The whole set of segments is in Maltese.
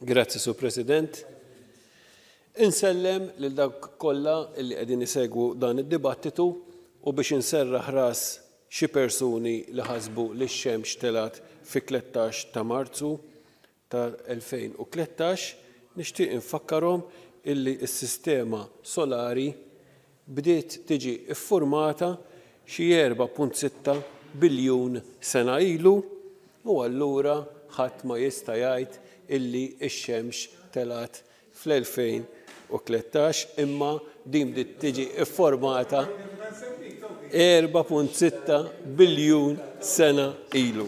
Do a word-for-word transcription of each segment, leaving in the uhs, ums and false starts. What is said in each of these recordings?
Grazzi, Sur President. Insellem lil dawk kollha li qegħdin isegwu dan id-dibattitu u biex inserraħ ras xi persuni li ħasbu li x-xemx telgħet fi tlettax ta' Marzu tal-elfejn u tlettax, nixtieq infakkarhom illi s-sistema solari bdiet tiġi iffurmata xi erba' punt sitta biljun sena ilu u allura ħadd ma jista' jgħid illi x-xemx telgħet fl-elfejn u tlettax, imma din bdiet tiġi iffurmata erba' punt sitta biljun sena ilu.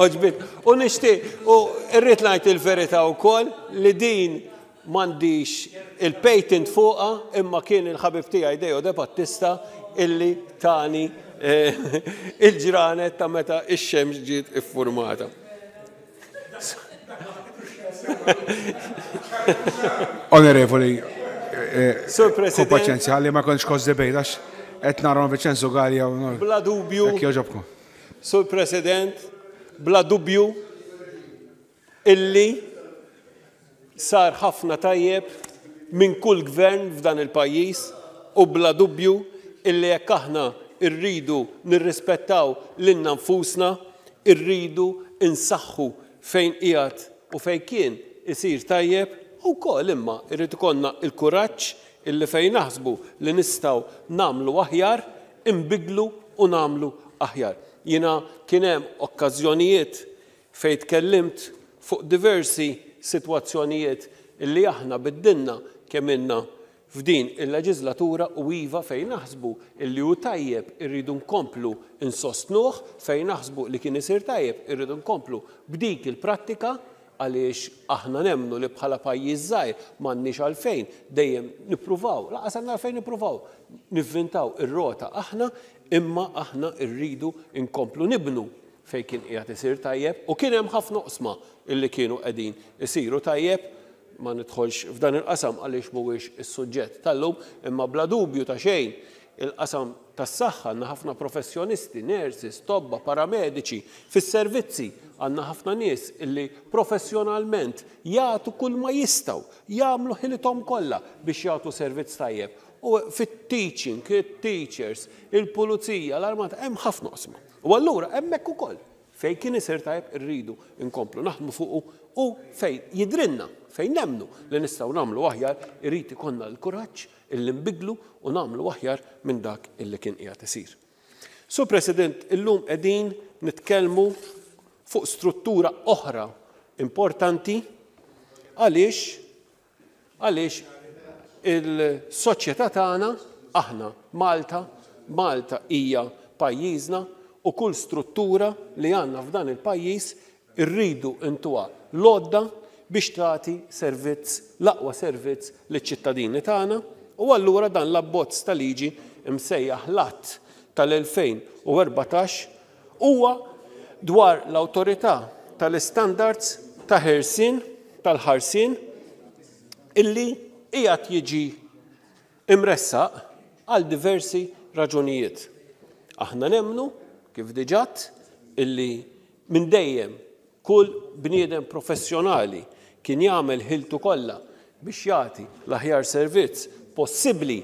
Oġbit, u nixtieq, u rrid ngħid il-verità wkoll li din m'għandix il-patent fuqha, imma kien il-ħabib tiegħi Deo De Battista illi tani, eh, il-ġranet ta' meta x-xemx ġiet iffurmata. Onorevoli, eh, Sur President. Ku paċenzja, li ma kontx kos debate, għax qed nara Vincenzo Galea u nor- Bla dubju. Jekk jogħġobkom. Sur President, bla dubju illi sar ħafna tajjeb minn kull gvern f'dan il-pajjiż u bla dubju illi jekk aħna rridu nirrispettaw lilna nfusna, irridu insaħħu fejn qiegħed u fejn kien isir tajjeb u wkoll imma irrid ikollna l-kuraġġ illi fejn naħsbu li nistgħu nagħmlu aħjar, inbidlu u nagħmlu aħjar. Jiena kien hemm okkażjonijiet fejn tkellimt fuq diversi sitwazzjonijiet illi aħna biddilna kemm ilna f'din il-leġislatura u iva fejn naħsbu illi hu tajjeb irridu nkomplu insostnuh, fejn naħsbu li kien isir tajjeb irridu nkomplu b'dik il-prattika għaliex aħna nemmnu li bħala pajjiż żgħir m'għandniex għalfejn dejjem nippruvaw, laqas għandna għalfejn nippruvaw nivvintaw ir-rota aħna, imma aħna rridu nkomplu nibnu fejn kien qiegħed isir tajjeb u kien hemm ħafna oqsma illi kienu qegħdin isiru tajjeb. Ma nidħolx f'dan il-qasam għaliex mhuwiex is-suġġett tal-lum, imma bla dubju ta' xejn il-qasam tas-saħħa għandna ħafna professjonisti, nurses, tobba, paramediċi, fis-servizzi għandna ħafna nies illi professjonalment jagħtu kull ma jistgħu, jagħmlu ħilithom kollha biex jagħtu servizz tajjeb. U fit-teaching, it-teachers, il-pulizija, l-armata, hemm ħafna oqsma. U allura hemmhekk ukoll fejn kien isir tajjeb irridu nkomplu naħdmu fuqu u fejn jidrinna, fejn nemmnu li nistgħu nagħmlu aħjar, irid ikollna l-kuraġġ illi nbidlu u nagħmlu aħjar minn dak illi kien qiegħed isir. Sur President, illum qegħdin nitkellmu fuq struttura oħra importanti għaliex, għaliex il-soċjetà tagħna, aħna Malta, Malta hija pajjiżna u kull struttura li għandna f'dan il-pajjiż irridu intuha l-għodda biex tagħti servizz, l-aqwa servizz liċ-ċittadini tagħna u allura dan l-abbozz ta' liġi msejjaħ l-Att tal-elfejn u erbatax huwa dwar l-awtorità tal-istandards ta' ħelsien tal-ħarsien illi qiegħed jiġi imressaq għal diversi raġunijiet. Aħna nemmnu, kif diġà, illi minn dejjem kull bniedem professjonali kien jagħmel ħiltu kollha biex jagħti l-aħjar servizz possibbli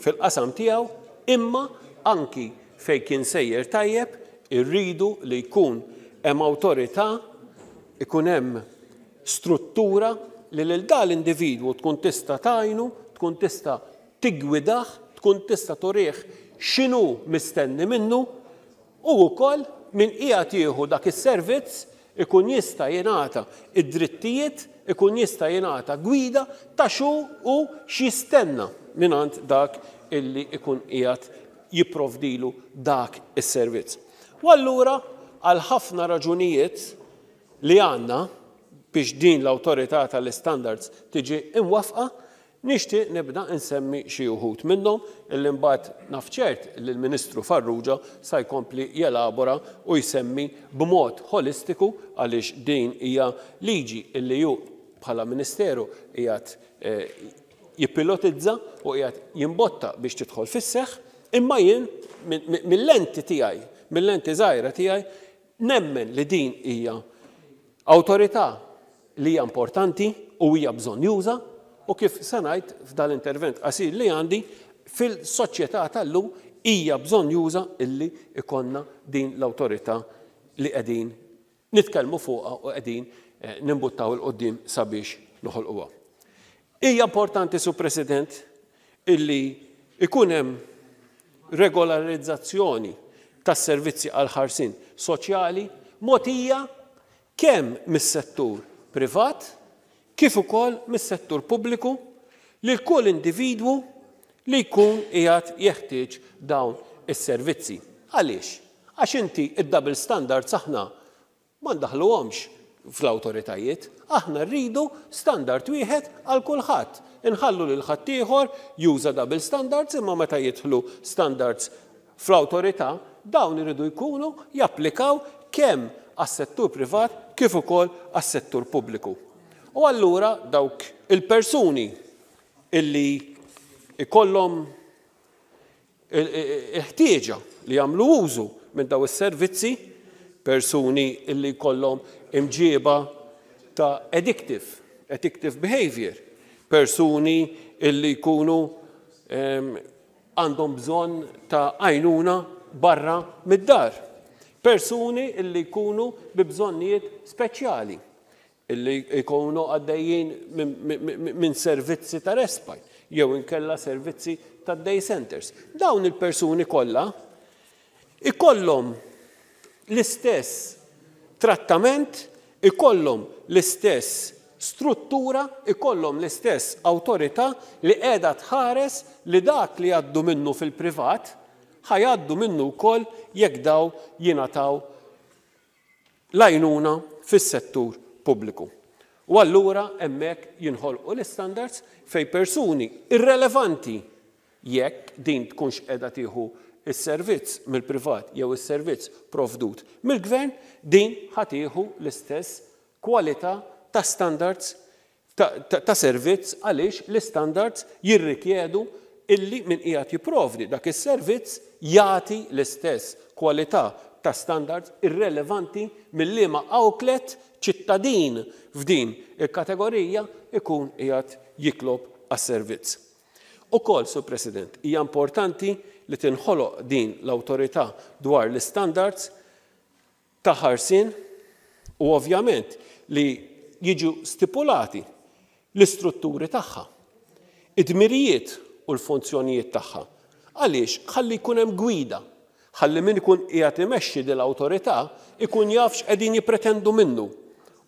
fil-qasam tiegħu, imma anki fejn kien sejjer tajjeb irridu li jkun hemm awtorità, ikun hemm struttura li lil dan l-individwu tkun tista' tgħinu, tkun tista' tigwidah, tkun tista' turih x'inhu mistenni minnu u wkoll min qiegħed jieħu dak is-servizz ikun jista' jingħata id-drittijiet, ikun jista' jingħata gwida ta' xu u x'jistenna mingħand dak illi ikun qiegħed jipprovdilu dak is-servizz. U allura għal ħafna raġunijiet li għandna biex din l-awtorità tal-istandards tiġi imwafqa, nixtieq nibda nsemmi xi wħud minnhom illi mbagħad naf ċert li l-Ministru Farrugia sa jkompli jelabora u jsemmi b'mod holistiku għaliex din hija liġi illi hu bħala Ministeru qiegħed, eh, jippilotizza u qiegħed jimbotta biex tidħol fis-seħħ, imma jien min-, min-, mill-lenti tiegħi, mill-lenti żgħira tiegħi, nemmen li din hija awtorità li hija importanti u hija bżonnjuża u kif se ngħid f'dal-intervent qasir li għandi fil-soċjetà tal-lum hija bżonnjuża illi ikollna din l-awtorità li qegħdin nitkellmu fuqha u qegħdin nimbuttaw 'il quddiem sabiex noħolquha. Hija importanti, Sur President, illi ikun hemm regolarizzazzjoni tas-servizzi għal ħarsien soċjali mogħtija kemm mis-settur privat kif ukoll mis-settur pubbliku lil kull individwu li jkun qiegħed jeħtieġ dawn is-servizzi. Għaliex? Għax inti id-double standards aħna ma ndaħluhomx fl-awtoritajiet, aħna rridu standard wieħed għal kulħadd. Inħallu lil ħaddieħor juża double standards, imma meta jidħlu standards fl-awtorità, dawn iridu jkunu japplikaw kemm għas-settur privat kif ukoll għas-settur pubbliku. U allura dawk il-persuni illi ikollhom il-ħtieġa li jagħmlu użu minn daw is-servizzi, persuni illi jkollhom imġieba ta' addictive, addictive behavior, persuni illi jkunu għandhom bżonn ta' għajnuna barra mid-dar, persuni illi jkunu bi bżonnijiet speċjali, illi jkunu għaddejjin minn servizzi ta' respite, jew inkella servizzi ta' day centers. Dawn il-persuni kollha ikollhom l-istess trattament, ikollhom l-istess struttura, ikollhom l-istess awtorità li qiegħda tħares li dak li jgħaddu minnu fil-privat ħa jgħaddu minnu wkoll jekk daw jingħataw l-għajnuna fis-settur pubbliku. U allura hemmhekk jinħolqu l-standards fej persuni irrelevanti jekk din tkunx qiegħda tieħu is-servizz mill-privat jew is-servizz provdut mill-gvern, din ħa tieħu l-istess kwalità ta' standards ta', ta, ta servizz, għaliex l-standards jirrikjedu illi min qiegħed jipprovdi dak is-servizz jagħti l-istess kwalità ta' standards irrelevanti mill-liema outlet ċittadin f'din il-kategorija ikun qiegħed jitlob għas-servizz. Ukoll, Sur President, hija importanti li tinħoloq din l-awtorità dwar l-standards ta' ħarsien u ovvjament li jiġu stipulati l-istrutturi tagħha, id-dmirijiet u l-funzjonijiet tagħha. Għaliex? Ħalli jkun hemm gwida, ħalli min ikun qiegħed imexxi din l-awtorità ikun jaf x'qegħdin jippretendu minnu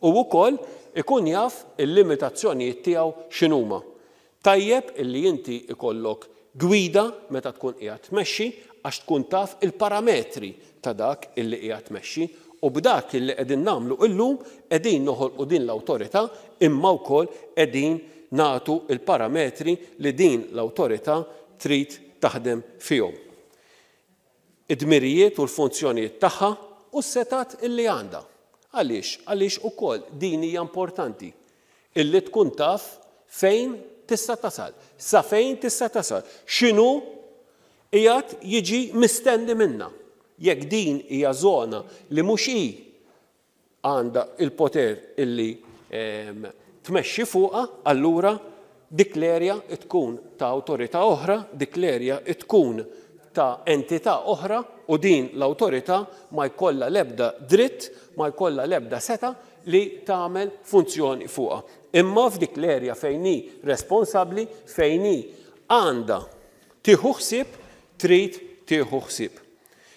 u wkoll ikun jaf il-limitazzjonijiet tiegħu x'inhuma. Tajjeb illi inti ikollok gwida meta tkun qiegħed tmexxi, għax tkun taf il-parametri ta' dak illi qiegħed tmexxi, u b'dak illi qegħdin nagħmlu illum qegħdin noħolqu din l-awtorità, imma wkoll qegħdin nagħtu il-parametri li din l-awtorità trid taħdem fihom. Id-dmirijiet u l-funzjonijiet tagħha u s-setat illi għandha. Għaliex? Għaliex ukoll din hija importanti illi tkun taf fejn tista' tasal, sa fejn tista' tasal, x'inhu qiegħed jiġi mistenni minna. Jekk din hija żona li mhux hi għandha il-poter illi ehm, tmexxi fuqha, allura dik l-erja tkun ta' awtorità oħra, dik l-erja tkun ta' entità oħra, u din l-awtorità ma jkollha l-ebda dritt, ma jkollha l-ebda seta li tagħmel funzjoni fuqha. Imma f'dik l-erja fejn hi responsabbli, fejn hi għandha tieħu ħsieb, trid tieħu ħsieb.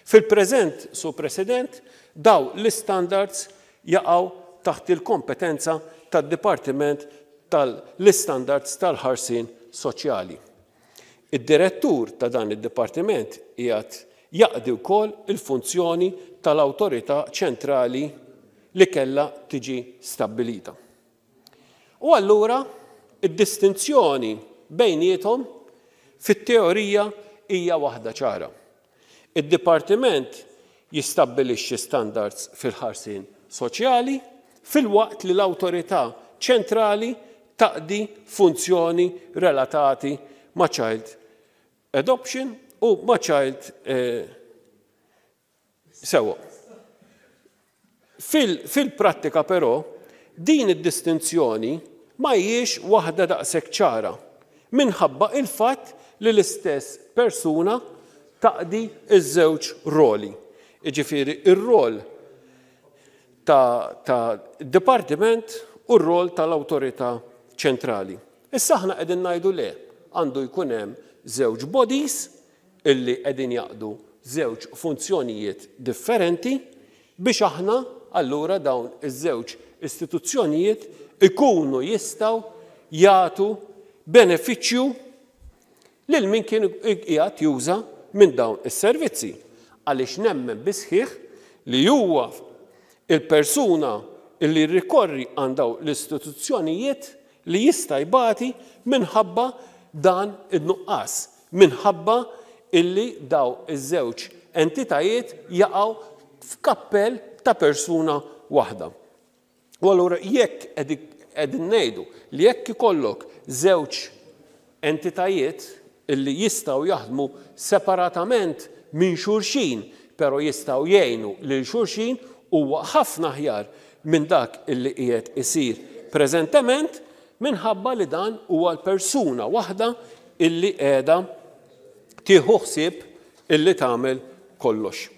Fil-preżent, Sur President, daw l-standards jaqgħu taħt il-kompetenza tad-Dipartiment tal-Istandards tal-Ħarsien Soċjali. Id-direttur ta' dan id-dipartiment qiegħed jaqdi wkoll il-funzjoni tal-awtorità ċentrali li kellha tiġi stabbilita. U allura id-distinzjoni bejniethom fit-teorija hija waħda ċara. Id-dipartiment jistabbilixxi standards fil-ħarsien soċjali filwaqt li l-awtorità ċentrali taqdi funzjoni relatati ma' child adoption u ma' child eh, sewa. Fil-prattika però, Din id-distinzjoni ma hijiex waħda daqshekk ċara minħabba il-fatt li l-istess persuna taqdi iż-żewġ roli. Jiġifieri ir-rol ta', ta dipartiment u r-rol tal-awtorità ċentrali. Issa aħna qegħdin ngħidu le, għandu jkun hemm żewġ bodies illi qegħdin jaqdu żewġ funzjonijiet differenti biex aħna allura dawn iż-żewġ istituzzjonijiet ikunu jistgħu jagħtu benefiċċju lil min kien qiegħed juża minn dawn is-servizzi. Għaliex nemmen bisħiħ li huwa il-persuna illi rikorri għand dawn l-istituzzjonijiet li jista' jbati minħabba dan id-nuqqas, minħabba illi daw iż-żewġ entitajiet jaqgħu f'kappell ta' persuna waħda. U allura jekk qegħdin ngħidu li jekk ikollok żewġ entitajiet illi jistgħu jaħdmu separatament minn xulxin, però jistgħu jgħinu lil xulxin, huwa ħafna aħjar minn dak illi qiegħed isir preżentement minħabba li dan huwa l-persuna waħda illi qiegħda tieħu ħsieb illi tagħmel kollox.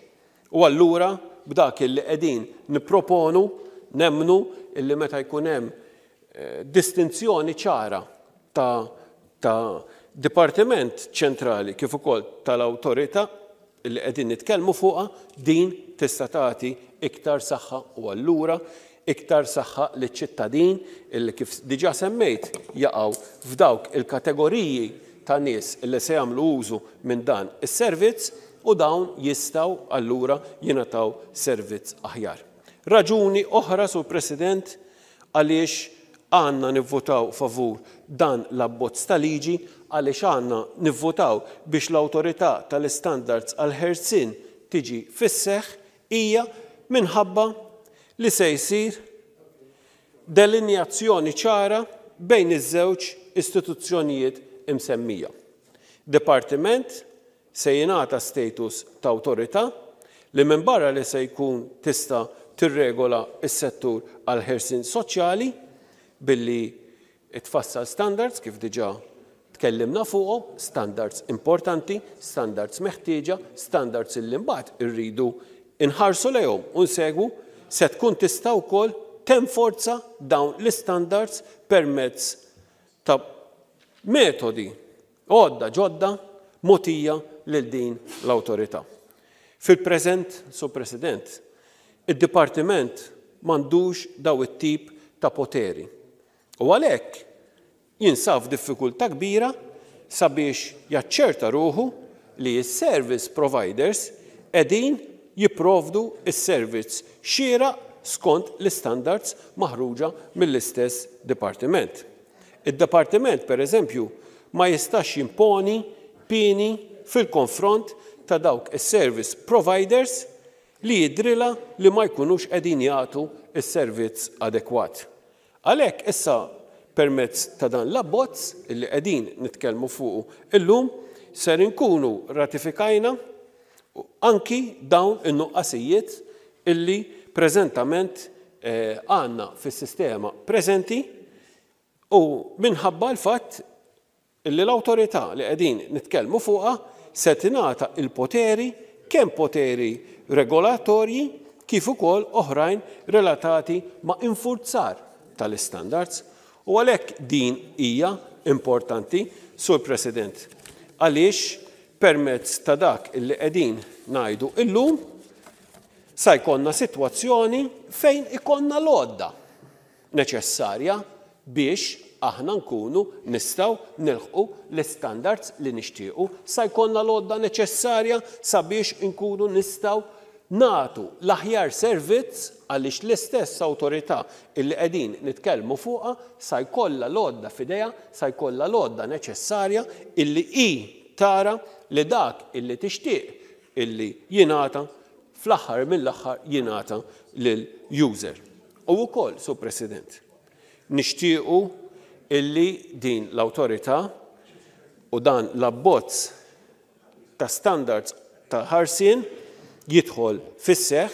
U allura b'dak illi qegħdin nipproponu nemmnu illi meta jkun hemm eh, distinzjoni ċara ta', ta' dipartiment ċentrali kif ukoll tal-awtorità illi qegħdin nitkellmu fuqha, din tista' tagħti iktar saħħa u allura iktar saħħa liċ-ċittadin illi kif diġà semmejt jaqgħu f'dawk il-kategoriji ta' nies illi se jagħmlu użu minn dan is-servizz u dawn jistgħu allura jingħataw servizz aħjar. Raġuni oħra, Sur President, għaliex għandna nivvotaw favur dan l-abbozz ta' liġi, għaliex għandna nivvotaw biex l-awtorità tal-istandards għall-ħelsien tiġi fis-seħħ, hija minħabba li se jsir delinjazzjoni ċara bejn iż-żewġ istituzzjonijiet imsemmija. Dipartiment se jingħata status ta' awtorità li minn barra li se jkun tista' tirregola s-settur għall-ħelsien soċjali billi tfassal standards kif diġà tkellimna fuqhom, standards importanti, standards meħtieġa, standards illi mbagħad irridu inħarsu lejhom u nsegwu, se tkun tista' wkoll tenforza dawn l-istandards permezz ta' metodi għodda ġodda mogħtija lil din l-awtorità. Fil-preżent, Sur President, id-dipartiment m'għandux daw it-tip ta' poteri. U għalhekk jinsab f'diffikultà kbira sabiex jaċċerta ruħu li s-service providers qegħdin jipprovdu s-servizz xieraq skont l-istandards maħruġa mill-istess dipartiment. Id-dipartiment, per eżempju, ma jistax jimponi pieni fil-konfront ta' dawk is-service providers li jidrilha li ma jkunux qegħdin jagħtu s-servizz adekwat. Għalhekk issa permezz ta' dan l-abbozz illi qegħdin nitkellmu fuqu illum ser inkunu ratifikajna anki dawn in-nuqqasijiet illi preżentament għandna fis-sistema preżenti u minħabba l-fatt illi l-awtorità li qegħdin nitkellmu fuqha se tingħata il-poteri, kemm poteri regolatorji kif ukoll oħrajn relatati ma' infurzar tal-istandards. U għalhekk din hija importanti, Sur President, għaliex permezz ta' dak illi qegħdin ngħidu illum sa jkollna sitwazzjoni fejn ikollna l-għodda neċessarja biex aħna nkunu nistgħu nilħqu l-istandards li nixtiequ, sa jkollna l-għodda neċessarja sabiex nkunu nistgħu nagħtu l-aħjar servizz għaliex l-istess awtorità illi qegħdin nitkellmu fuqha sa jkollha l-għodda f'idejha, sa jkollha l-għodda neċessarja illi hi tara li dak illi tixtieq illi jingħata fl-aħħar mill-aħħar jingħata lil-user. U wkoll, Sur President, nixtiequ illi din l-awtorità u dan l-abbozz ta' standards ta' ħarsien jidħol fis-seħħ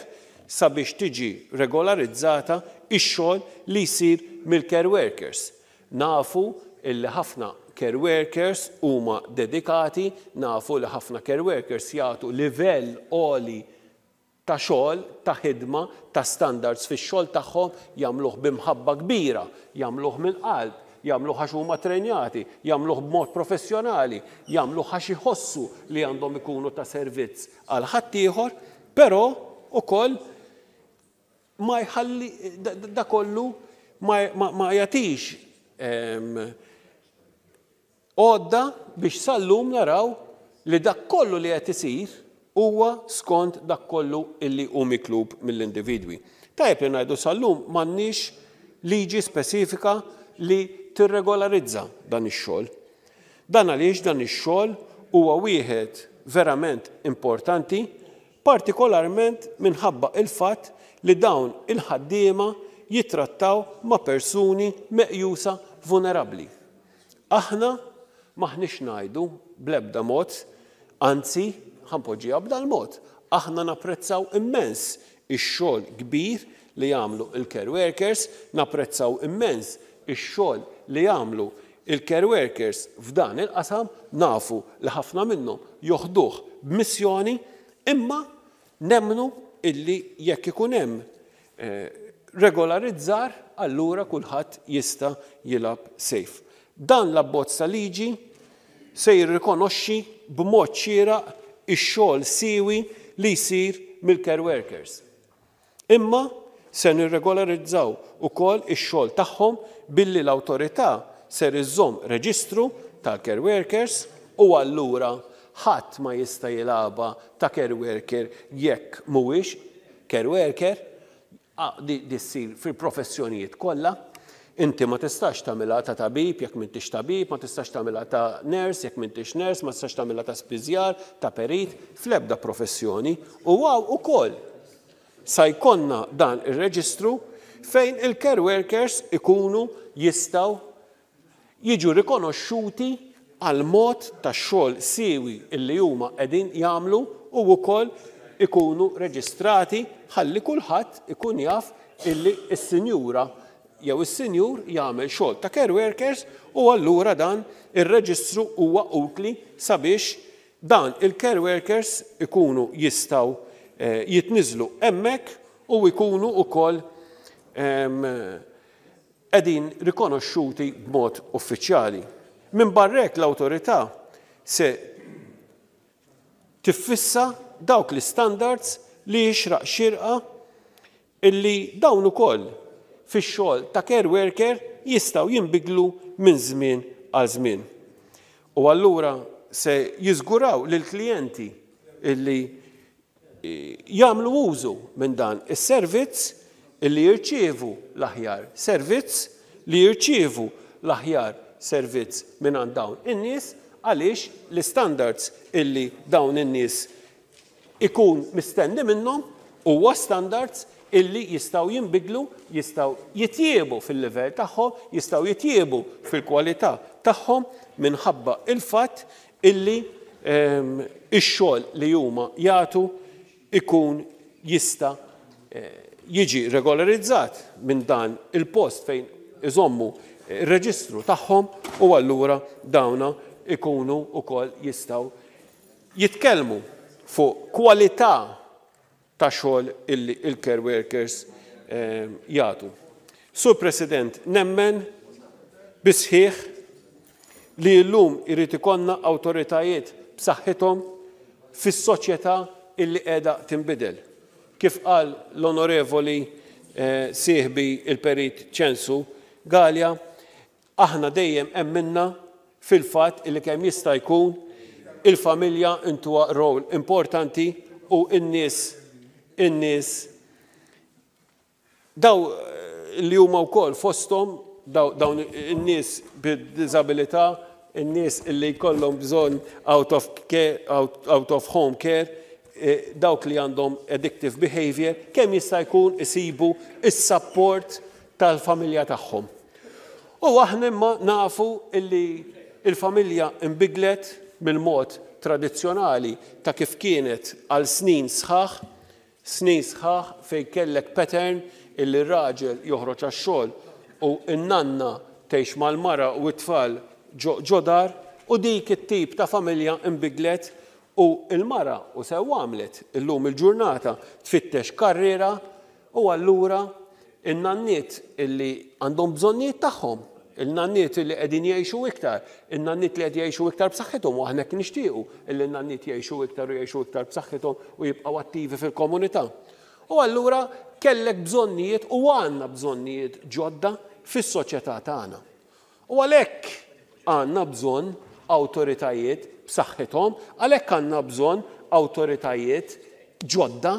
sabiex tiġi regolarizzata ix-xogħol li jsir mill-care workers. Nafu illi ħafna care workers huma dedikati, nafu li ħafna care workers jagħtu livell għoli ta' xogħol, ta' ħidma, ta' standards fix-xogħol tagħhom, jagħmluh b'imħabba kbira, jagħmluh mill-qalb, jagħmluh għax huma trenjati, jagħmluh b'mod professjonali, jagħmluh għax iħossu li għandhom ikunu ta' servizz għal ħaddieħor, però ukoll ma jħalli da kollu ma, ma, ma jagħtix għodda biex sal-lum naraw li dak kollu li qed isir huwa skont dak kollu illi hu mitlub mill-individwi. Tajjeb li ngħidu, sal-lum m'għandniex liġi spesifika li tirregolarizza dan ix-xogħol. Dan għaliex dan ix-xogħol huwa wieħed verament importanti, partikolarment minħabba il-fatt li dawn il-ħaddiema jitrattaw ma' persuni meqjusa vulnerabbli. Aħna m'aħniex ngħidu bl-ebda mod, anzi, ħa npoġġiha b'dal-mod. Aħna napprezzaw immens ix-xogħol kbir li jagħmlu il-care workers, napprezzaw immens ix-xogħol li jagħmlu il-care workers f'dan il-qasam, nafu li ħafna minnhom joħduh b'missjoni, imma nemmnu illi jekk ikun hemm eh, regolarizzar, allura kulħadd jista' jilgħab safe. Dan l-abbozz ta' liġi se jirrikonoxxi b'mod xieraq ix-xogħol siewi li jsir mill-care workers. Imma se nirregolarizzaw ukoll ix-xogħol tagħhom billi l-awtorità ser iżżomm reġistru tal-care workers, u allura ħadd ma jista' jilgħabha ta' care worker jekk mhuwiex care worker. Di, di ssir fil-professjonijiet kollha. Inti ma tistax tagħmilha ta' tabib jekk m'intix tabib, ma tistax tagħmilha ta' nurse jekk m'intix nurse, ma tistax tagħmilha ta' spiżjar, ta' perit, fl-ebda professjoni. U hawn ukoll sa jkollna dan ir-reġistru fejn il-care workers ikunu jistgħu jiġu rikonoxxuti għal mod ta' xogħol siewi illi huma qegħdin jagħmlu u wkoll ikunu reġistrati ħalli kulħadd ikun jaf illi s-sinjura jew is-sinjur jagħmel xogħol ta' care workers, u allura dan ir-reġistru huwa utli sabiex dan il-care workers ikunu jistgħu eh, jitniżlu hemmhekk u jkunu wkoll qegħdin rikonoxxuti b'mod uffiċjali. Minn barrek, l-awtorità se tiffissa dawk l-standards li jixraq xirqa illi dawn ukoll fix-xogħol ta' care worker jistgħu jinbidlu minn żmien għal żmien. U allura se jiżguraw lil klijenti illi jagħmlu użu minn dan is-servizz illi jirċievu l-aħjar servizz, li jirċievu l-aħjar servizz minn għand dawn in-nies, għaliex l-standards illi dawn in-nies ikun mistenni minnhom huwa standards illi jistgħu jinbidlu, jistgħu jitjiebu fil-livell tagħhom, jistgħu jitjiebu fil-kwalità tagħhom minħabba il-fatt illi ehm, ix-xogħol li huma jagħtu ikun jista' eh, jiġi regolarizzat minn dan il-post fejn iżommu il-reġistru tagħhom, u allura dawna ikunu ukoll jistgħu jitkellmu fuq kwalità ta' xogħol illi il-care workers eh, jagħtu. Sur President, nemmen bis-sħiħ li llum irid ikollna awtoritajiet b'saħħithom fis-soċjetà illi qiegħda tinbidel. Kif qal l-onorevoli eh, sieħbi il-Perit Ċensu Galea, aħna dejjem emminna fil-fatt illi kemm jista' jkun il-familja intuha rol importanti u n-nies in-nies daw eh, li huma wkoll fosthom dawn in-nies bid-diżabilità, in-nies illi jkollhom bżonn out of care, out, out of home care, eh, dawk li għandhom addictive behavior, kemm jista' jkun isibu is-support tal-familja tagħhom. U aħna imma nafu illi il-familja imbidlet mill-mod tradizzjonali ta' kif kienet għal snin sħaħ, snin sħaħ fej kellek pattern illi r-raġel joħroġ għax-xogħol u n-nanna tgħix mal-mara u t-tfal ġo dar, u dik it-tip ta' familja imbidlet u l-mara u sew għamlet illum il-ġurnata tfittex karriera, u allura in-nanniet illi għandhom bżonnijiet tagħhom, il-nanniet illi qegħdin jgħixu iktar, in-nanniet li qed jgħixu iktar b'saħħithom, u aħna hekk nixtiequ illi n-nanniet jgħixu iktar u jgħixu iktar b'saħħithom u jibqgħu attivi fil-komunità. U allura kellek bżonnijiet u għandna bżonnijiet ġodda fis-soċjetà tagħna. U għalhekk għandna bżonn awtoritajiet b'saħħithom, għalhekk għandna bżonn awtoritajiet ġodda,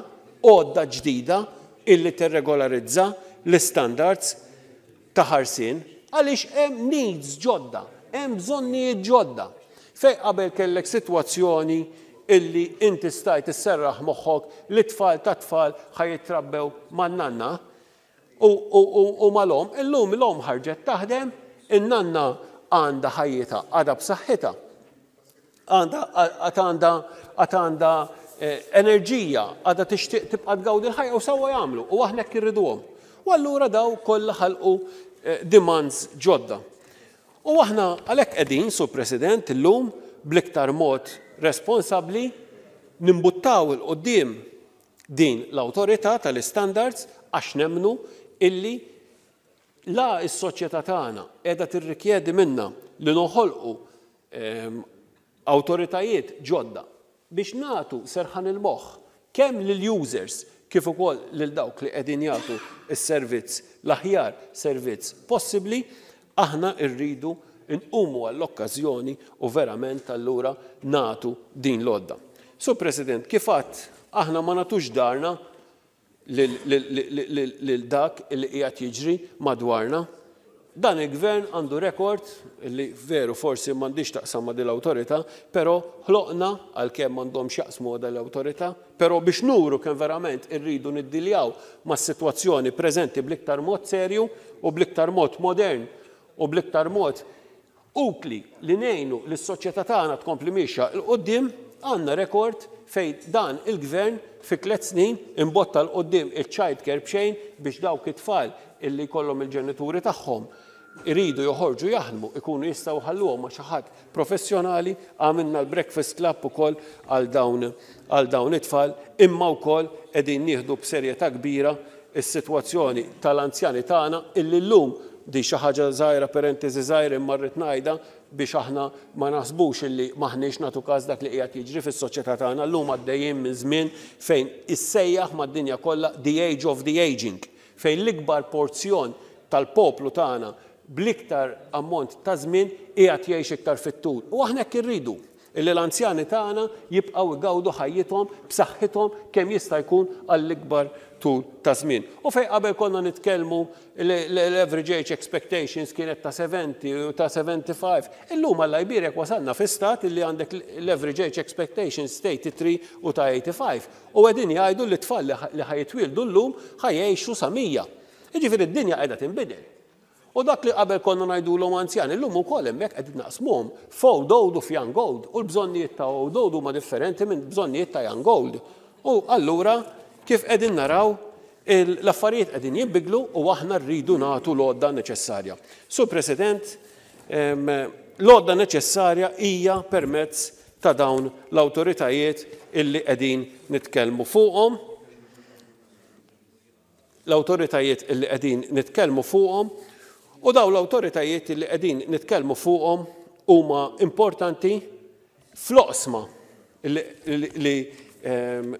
għodda ġdida illi tirregolarizza l-istandards ta' ħarsien, għaliex hemm needs ġodda, hemm bżonnijiet ġodda. Fej qabel kellek sitwazzjoni illi inti stajt isserraħ moħħok li tfal ta' tfal ħa jitrabbew man-nanna u, u, u, u mal-omm, illum l-omm ħarġet taħdem, in-nanna għandha ħajjitha, għadha b'saħħitha, għandha għandha għandha enerġija, għadha tixtieq tibqa' tgawdi l-ħajja u sewwa jagħmlu u aħna hekk irriduhom. U allura daw kollha ħalqu demands ġodda. U aħna għalhekk qegħdin, Sur President, illum bl-iktar mod responsabbli nimbuttaw 'il quddiem din l-awtorità tal-istandards, għax nemmnu illi la s-soċjetà tagħna qiegħda tirrikjedi minna li noħolqu awtoritajiet ġodda biex nagħtu serħan il-moħħ kemm lill-users kif ukoll lil dawk li qegħdin jagħtu s-servizz, l-aħjar servizz possibbli, aħna rridu nqumu għall-okkażjoni u verament allura nagħtu din l-għodda. Sur President, kif għadt, aħna ma nagħtux darna lil dak li qiegħed jiġri madwarna. Dan il-gvern għandu rekord li veru forsi m'għandix taqsam ma' din l-awtorità, però ħloqna, għalkemm m'għandhomx jaqsmu ma' din l-awtorità, però biex nuru kemm verament irridu niddiljaw mas-sitwazzjoni preżenti bl-iktar mod serju u bl-iktar mod modern u bl-iktar mod utli li ngħinu lis-soċjetà tagħna tkompli mixja 'l quddiem, għandna rekord fejn dan il-gvern fi tliet snin imbotta 'l quddiem il-child care b'xejn biex dawk it-tfal illi jkollhom il-ġenituri tagħhom iridu joħorġu jaħdmu, ikunu jistgħu jħalluhom ma' xi ħadd professjonali. Għamilna l-Breakfast Club ukoll għal dawn, għal dawn it-tfal, imma wkoll qegħdin nieħdu b'serjetà kbira is-sitwazzjoni tal-anzjani tagħna illi llum di xi ħaġa żgħira, parentesi żgħira, imma rrid ngħidha biex aħna ma naħsbux illi maħniex nagħtu każ dak li qiegħed jiġri fis-soċjetà tagħna. Llum għaddejjin minn żmien fejn issejjaħ mad-dinja kollha the age of the aging, fejn l-ikbar porzjon tal-poplu tagħna bl-iktar ammont ta' żmien qiegħed jgħix iktar fit-tul. U aħna hekk irridu illi l-anzjani tagħna jibqgħu jgawdu ħajjithom b'saħħithom kemm jista' jkun għall-ikbar tul ta' żmien. U fejn qabel konna nitkellmu l-average age expectations kienet ta' seventy u ta' seventy-five, illum Alla jbierek wasalna fi stat illi għandek l-average age expectations ta' eighty-three u ta' eighty-five. U qegħdin jgħidu li t-tfal li ħa jitwieldu llum ħa jgħixu sa mija. Jiġifieri d-dinja qiegħda tinbidel. U dak li qabel konna ngħidulhom anzjani, illum ukoll hemmhekk qed naqsmuhom f'old old u f'young old, u l-bżonnijiet ta' old old huma differenti minn bżonnijiet ta' young old. U allura kif qegħdin naraw l-affarijiet qegħdin jinbidlu u aħna rridu nagħtu l-għodda neċessarja. Sur President, l-għodda neċessarja hija permezz ta' dawn l-awtoritajiet illi qegħdin nitkellmu fuqhom. L-awtoritajiet illi qegħdin nitkellmu fuqhom u dawn l-awtoritajiet illi qegħdin nitkellmu fuqhom huma importanti fl-oqsma li, li, li, ehm,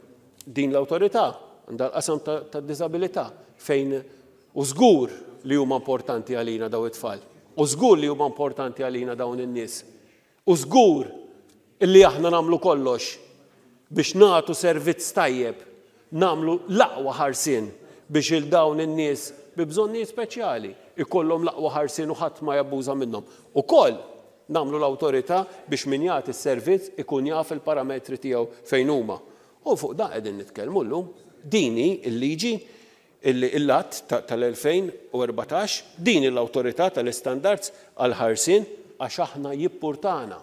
din l-awtorità għandha l-qasam ta', ta' disabilità fejn u żgur li huma importanti għalina dawn it-tfal, u żgur li huma importanti għalina dawn in-nies, u żgur illi aħna nagħmlu kollox biex nagħtu servizz tajjeb, nagħmlu l-aqwa ħarsien biex il dawn in-nies bi bżonnijiet speċjali ikollhom l-aqwa ħarsien u ħadd ma jabbuża minnhom. Ukoll nagħmlu l-awtorità biex min jagħti s-servizz ikun jaf il-parametri tiegħu fejn huma. U fuq dan qegħdin nitkellmu llum. Din hi l-liġi l-att tal-elfejn u erbatax, din l-awtorità tal-istandards għal-ħarsien, għax aħna jippurtana,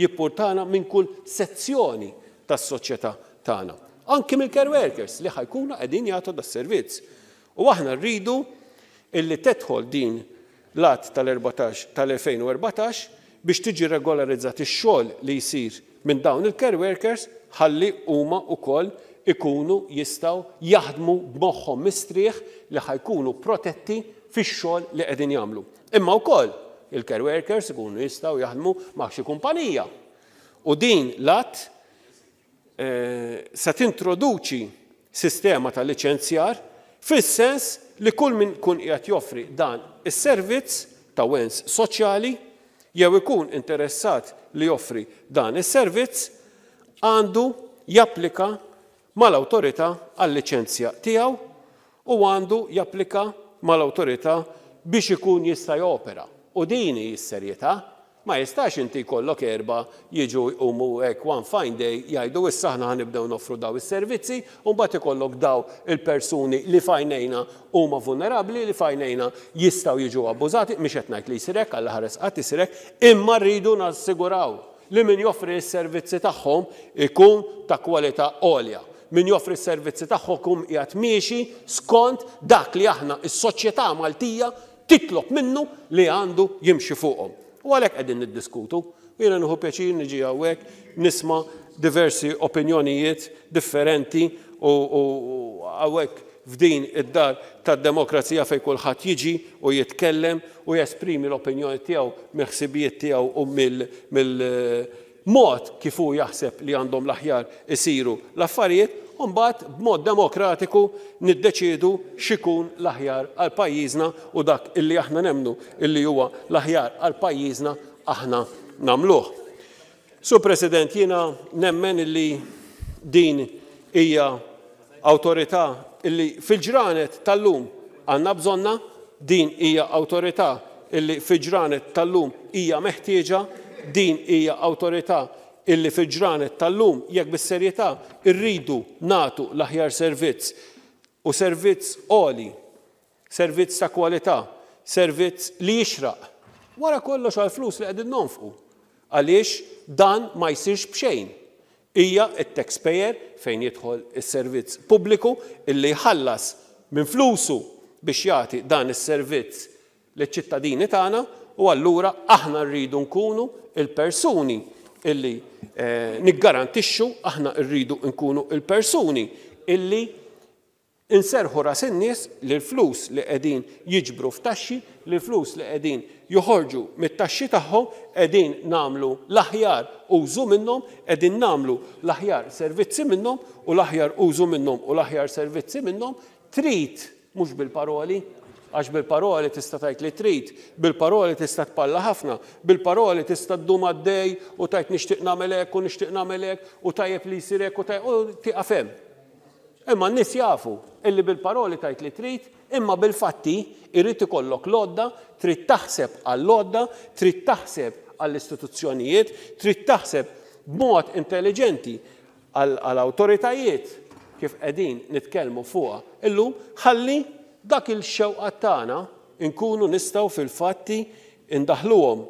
jippurtana minn kull sezzjoni tas-soċjetà tagħna. Anki mill-care workers li ħa jkunu qegħdin jagħtu das-servizz. U aħna rridu illi tidħol din l-att tal-erbatax tal-elfejn u erbatax biex tiġi regolarizzat ix-xogħol li jsir minn dawn il-care workers ħalli huma wkoll ikunu jistgħu jaħdmu b'moħħhom mistrieħ li ħajkunu protetti fix-xogħol li qegħdin jagħmlu. Imma wkoll il-care workers ikunu jistgħu jaħdmu ma' xi kumpanija. U din l-att, eh, se tintroduċi sistema ta' liċenzjar fis-sens li kull min kun qiegħed joffri dan is-servizz ta' wens soċjali jew ikun interessat li joffri dan is-servizz għandu japplika mal-awtorità għal-liċenzja tiegħu u għandu japplika mal-awtorità biex ikun jista' jopera. U din hi s-serjetà. Ma jistax inti jkollok erba' jiġu jqumu hekk one fine day jgħidu issa aħna ħanibdew noffru daw is-servizzi u mbagħad ikollok daw il-persuni li fajnejna huma vulnerabbli, li fajnejna jistgħu jiġu abbużati, mhix qed ngħid li jsir hekk, Alla ħares qatt isir hekk, imma rridu nassiguraw li min joffri s-servizzi tagħhom ikun ta' kwalità għolja. Min joffri s-servizzi tagħhom ikun qiegħed miexi skont dak li aħna s-soċjetà Maltija titlob minnu li għandu jimxi fuqhom. U għalhekk qegħdin niddiskutu. Jiena nieħu pjaċir niġi hawnhekk nisma' diversi opinjonijiet differenti u, u, u hawnhekk f'din id-dar tad-demokrazija fejn kulħadd jiġi u jitkellem u jesprimi l-opinjoni tiegħu mill-ħsibijiet tiegħu u mill-, mill-mod kif hu jaħseb li għandhom l-aħjar isiru l-affarijiet, u mbagħad b'mod demokratiku niddeċiedu x'ikun l-aħjar għal pajjiżna u dak illi aħna nemmnu illi huwa l-aħjar għal pajjiżna aħna nagħmluh. Sur President, jiena nemmen illi din hija awtorità illi fil-ġranet tal-lum għandna bżonna, din hija awtorità illi fil-ġranet tal-lum hija meħtieġa, din hija awtorità illi fil-ġranet tal-lum jekk bis-serjetà rridu nagħtu l-aħjar servizz u servizz għoli, servizz ta' kwalità, servizz li jixraq. Wara kollox għall-flus li qegħdin nonfqu. Għaliex dan ma jsirx b'xejn. Hija t-taxpayer fejn jidħol is-servizz pubbliku illi jħallas minn flusu biex jagħti dan is-servizz liċ-ċittadini tagħna u allura aħna rridu nkunu il-persuni illi, eh, niggarantixxu, aħna rridu nkunu il-persuni illi inserħu ras in-nies li l-flus li qegħdin jiġbru f'taxxi, li l-flus li qegħdin joħorġu mit-taxxi tagħhom qegħdin nagħmlu l-aħjar użu minnhom, qegħdin nagħmlu l-aħjar servizzi minnhom u l-aħjar użu minnhom u l-aħjar servizzi minnhom trid mhux bil-paroli, għax bil-paroli tista' tgħid li trid, bil-paroli tista' tpalla ħafna, bil-paroli tista' ddum għaddej u tgħid nixtieq nagħmel hekk u nixtieq nagħmel hekk u tajjeb li jsir hekk u tajjeb u tieqaf hemm. Imma n-nies jafu illi bil-paroli tgħid li trid, imma bil-fatti irid ikollok l-għodda, trid taħseb għall-għodda, trid taħseb għall-istituzzjonijiet, trid taħseb b'mod intelligenti għall-awtoritajiet kif qegħdin nitkellmu fuqha illum, ħalli dak il-xewqa tagħna nkunu nistgħu fil-fatti indaħluhom,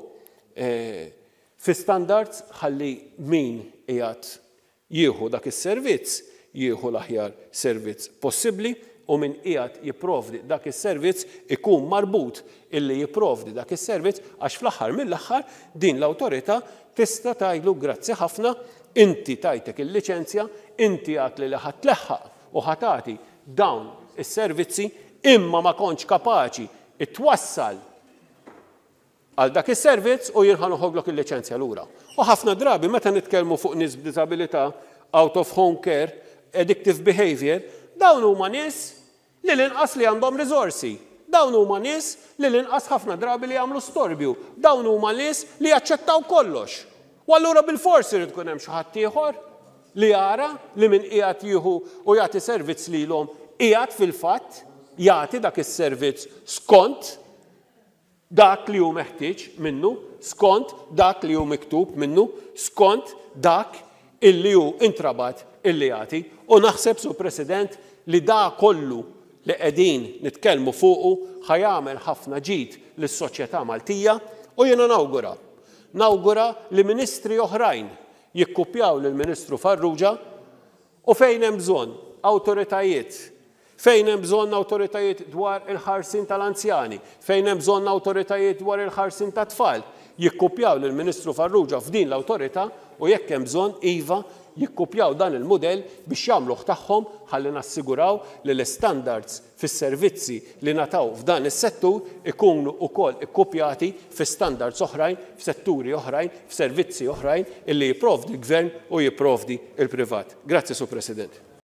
eh, fi standards ħalli min qiegħed jieħu dak is-servizz jieħu l-aħjar servizz possibbli u min qiegħed jipprovdi dak is-servizz ikun marbut illi jipprovdi dak is-servizz għax fl-aħħar mill-aħħar din l-awtorità tista' tgħidlu grazzi ħafna, inti tajtek il-liċenzja, inti għad li ħa tleħħaq u ħa tagħti dawn is-servizzi imma ma kontx kapaċi itwassal għal dak is-servizz u jien ħa noħodlok il-liċenzja lura. U ħafna drabi meta nitkellmu fuq nies b'diżabilità, out of home care, addictive behavior, dawn huma nies li l-inqas li għandhom riżorsi. Dawn huma nies li l-inqas ħafna drabi li jagħmlu storbju. Dawn huma nies li jaċċettaw kollox. U allura bil-forsi irid ikun hemm xi ħadd ieħor li jara li min qiegħed jieħu u jagħti servizz lilhom qiegħed fil-fatt jagħti dak is-servizz skont dak li hu meħtieġ minnu, skont dak li hu miktub minnu, skont dak illi hu intrabat illi jagħti. U naħseb, Sur President, li da kollu li qegħdin nitkellmu fuqu ħajamel ħafna ġid lis-soċjetà Maltija u jiena nawgura. Nawgura li ministri oħrajn jikkupjaw lill-Ministru Farrugia u fejn hemm bżonn awtoritajiet, Fejn hemm bżonn awtoritajiet dwar il-ħarsien tal-anzjani, fejn hemm bżonn awtoritajiet dwar il-ħarsien tat-tfal, jikkupjaw lill-Ministru Farrugia f'din l-awtorità u jekk hemm bżonn iva jikkupjaw dan il-mudell biex jagħmluh tagħhom ħalli nassiguraw li l-istandards fis-servizzi li nataw f'dan is-settur ikunu wkoll ikkupjati fi standards oħrajn, f'setturi oħrajn, f'servizzi oħrajn illi jipprovdi l-gvern u jipprovdi il-privat. Grazzi, Sur President.